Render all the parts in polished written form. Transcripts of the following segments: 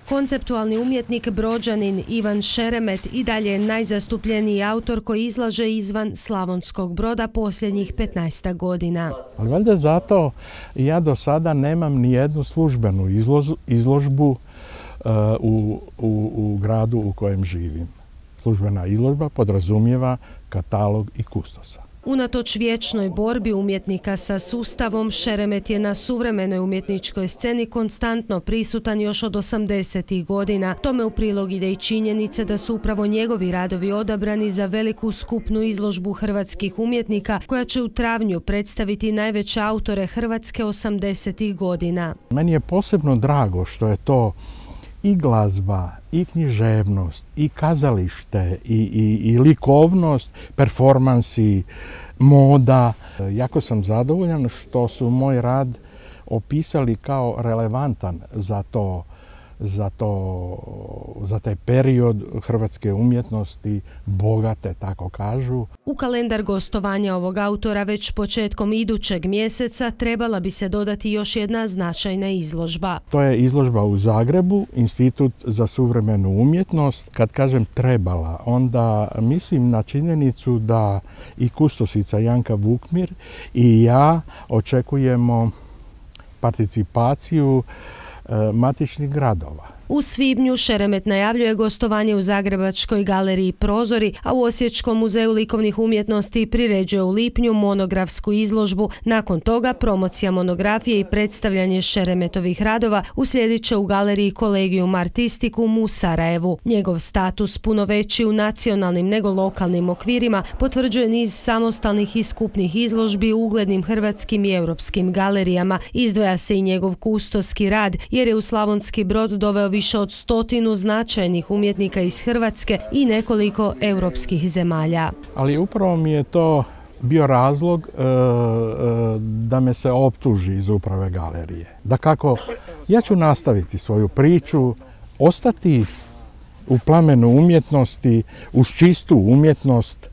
Konceptualni umjetnik Brođanin Ivan Šeremet i dalje je najzastupljeniji autor koji izlaže izvan Slavonskog Broda posljednjih 15 godina. Ali valjda zato ja do sada nemam ni jednu službenu izložbu u gradu u kojem živim. Službena izložba podrazumijeva katalog i kustosa. Unatoč vječnoj borbi umjetnika sa sustavom, Šeremet je na suvremenoj umjetničkoj sceni konstantno prisutan još od 80-ih godina. Tome u prilog ide i činjenice da su upravo njegovi radovi odabrani za veliku skupnu izložbu hrvatskih umjetnika koja će u travnju predstaviti najveće autore Hrvatske 80-ih godina. Meni je posebno drago što je to i glazba, i književnost, i kazalište, i likovnost, performansi, moda. Jako sam zadovoljan što su moj rad opisali kao relevantan za taj period hrvatske umjetnosti, bogate, tako kažu. U kalendar gostovanja ovog autora već početkom idućeg mjeseca trebala bi se dodati još jedna značajna izložba. To je izložba u Zagrebu, Institut za suvremenu umjetnost. Kad kažem trebala, onda mislim na činjenicu da i kustosica Janka Vukmir i ja očekujemo participaciju matičnih gradova. U svibnju Šeremet najavljuje gostovanje u Zagrebačkoj galeriji Prozori, a u Osječkom muzeju likovnih umjetnosti priređuje u lipnju monografsku izložbu. Nakon toga promocija monografije i predstavljanje Šeremetovih radova uslijedit će u galeriji Collegium Artisticum u Sarajevu. Njegov status, puno veći u nacionalnim nego lokalnim okvirima, potvrđuje niz samostalnih i skupnih izložbi u uglednim hrvatskim i europskim galerijama. Izdvaja se i njegov kustoski rad, jer je u Slavonski Brod doveo više od 100 značajnih umjetnika iz Hrvatske i nekoliko europskih zemalja. Ali upravo mi je to bio razlog da me se optuži iz uprave galerije. Dakako, ja ću nastaviti svoju priču, ostati u plamenu umjetnosti, uz čistu umjetnost,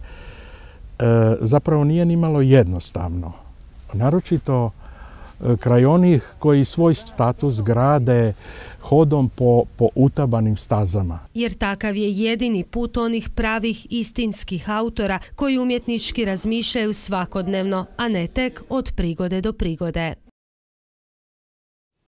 zapravo nije nimalo jednostavno. Naročito kraj onih koji svoj status grade hodom po utabanim stazama. Jer takav je jedini put onih pravih istinskih autora koji umjetnički razmišljaju svakodnevno, a ne tek od prigode do prigode.